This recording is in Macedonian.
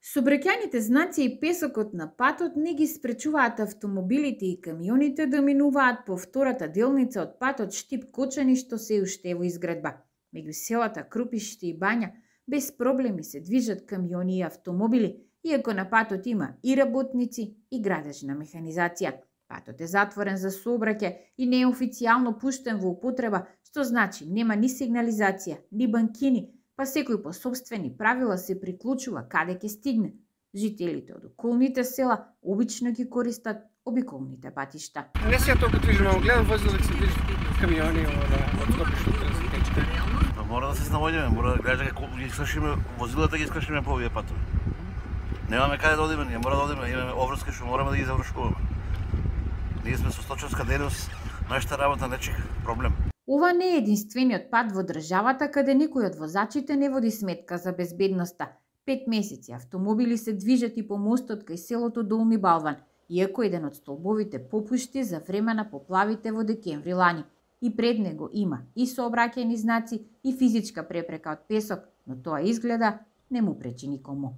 Сообраќајните знаци и песокот на патот не ги спречуваат автомобилите и камионите да минуваат по втората делница од патот Штип-Кочани, што се уште е во изградба. Меѓу селата Крупиште и Бања без проблеми се движат камиони и автомобили, иако на патот има и работници и градежна механизација. Патот е затворен за сообраќај и не е официјално пуштен во употреба, што значи нема ни сигнализација, ни банкини, па секој по собствени правила се приклучува каде ќе стигне. Жителите од околните села обично ги користат обиколните патишта. Не се толку движимо, гледам возила да се движат камиони од Скопиште да се тече. Мора да се снаоѓаме, мора да гледаме како ги скршиме возилата, ги скршиме по овие патови. Немаме каде да одиме, ние мора да одиме, имаме обврски што мораме да ги завршуваме. Ние сме со сточарска дејност, нашата работа не чека проблем. Ова не е единствениот пат во државата каде некој од возачите не води сметка за безбедноста. 5 месеци автомобили се движат и по мостот кај селото Долни Балван, иако еден од столбовите попушти за време на поплавите во декември лани. И пред него има и сообраќајни знаци и физичка препрека од песок, но тоа изгледа не му пречи никому.